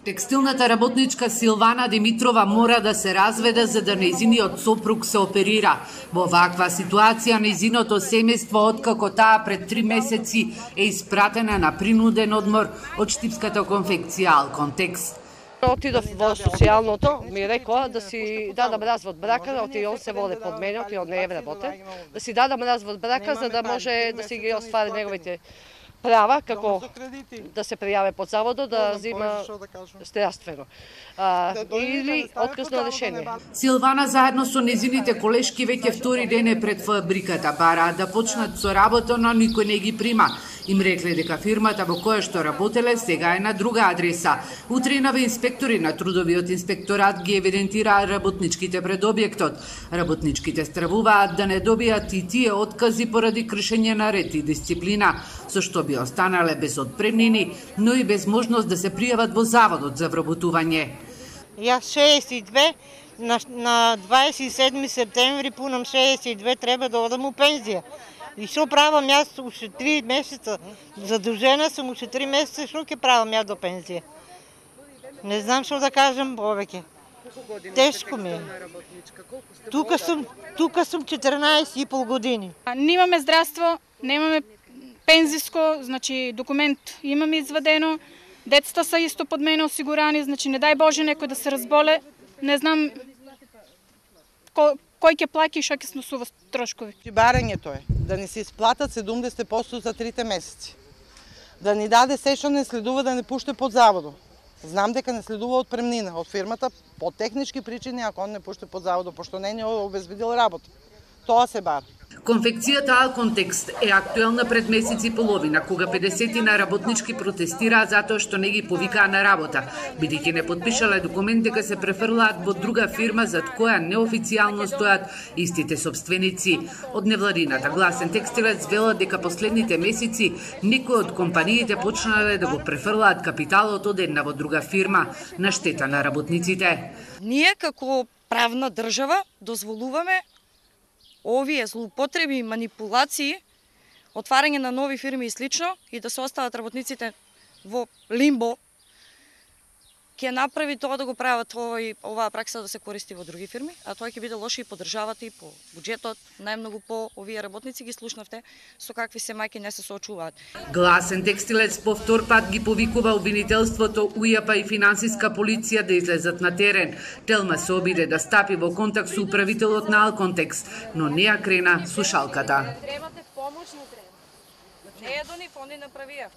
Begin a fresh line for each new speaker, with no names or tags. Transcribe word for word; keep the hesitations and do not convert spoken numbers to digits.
Текстилната работничка Силвана Димитрова мора да се разведе за да нејзиниот сопруг се оперира. Во ваква ситуација нејзиното семејство откако таа пред три месеци е испратена на принуден одмор од штипската конфекција Алконтекс.
Отидов во социјалното, ми рекоа да си дадам развод брака, оти он се воде под мене, оти он не е вработен, да си дадам развод брака за да може да си ги оствари неговите права, како да се пријаве под заводот, да зима здравствено. А, или откусно решение.
Силвана заедно со незините колешки веќе втори ден е пред фабриката, бараат да почнат со работа, но никој не ги прима. Им рекле дека фирмата во која што работеле сега е на друга адреса. Утренове инспектори на трудовиот инспекторат ги евидентираа работничките пред објектот. Работничките стравуваат да не добијат и тие откази поради кршење на ред и дисциплина, со што би останале без отпремнини, но и без можност да се пријават во заводот за вработување.
Јас шеесет и две, на, на дваесет и седми септември пунам шеесет и две, треба да одам у пензија. И што правам јас уште три месеца? Задужена сум уште три месеца, што ќе правам ја до пензија? Не знам што да кажам повеќе. Тешко ми е. Тука сум, тука сум четрнаесет и пол години.
Немаме здравство, немаме пензиско, значи документ имаме извадено, децата са исто под мене осигурани, значи не дај Боже некој да се разболе, не знам кој ќе плаќа и што ќе сносува трошкови.
Барањето е да ни се исплатат седумдесет проценти за трите месеци. Да ни даде се што не следува да не пуште под заводот. Знам дека не следува отпремнина од фирмата по технички причини ако он не пуште под заводот, пошто не ни обезбедил работа. Тоа се бара.
Конфекцијата Алконтекс е актуелна пред месец и половина, кога педесетина работнички протестираа затоа што не ги повикаа на работа, бидејќи не потпишале документ дека се префрлаат во друга фирма зад која неофицијално стојат истите собственици. Од невладината Гласен текстилец велат дека последните месеци некои од компаниите почнале да го префрлаат капиталот од една во друга фирма на штета на работниците.
Ние како правна држава дозволуваме овие злоупотреби и манипулации, отварање на нови фирми и слично, и да се остават работниците во лимбо, ќе направи тоа да го прават овој, оваа пракса да се користи во други фирми, а тоа ќе биде лошо и по државата и по буџетот, најмногу по овие работници ги слушнавте со какви се мајки не се соочуваат.
Гласен текстилец повтор пат ги повикува обвинителството, ујапа и финансиска полиција да излезат на терен. Телма се обиде да стапи во контакт со управителот на Алконтекс, но не ја крена слушалката.
Требате помош, не треба. Не е до нив, они направија.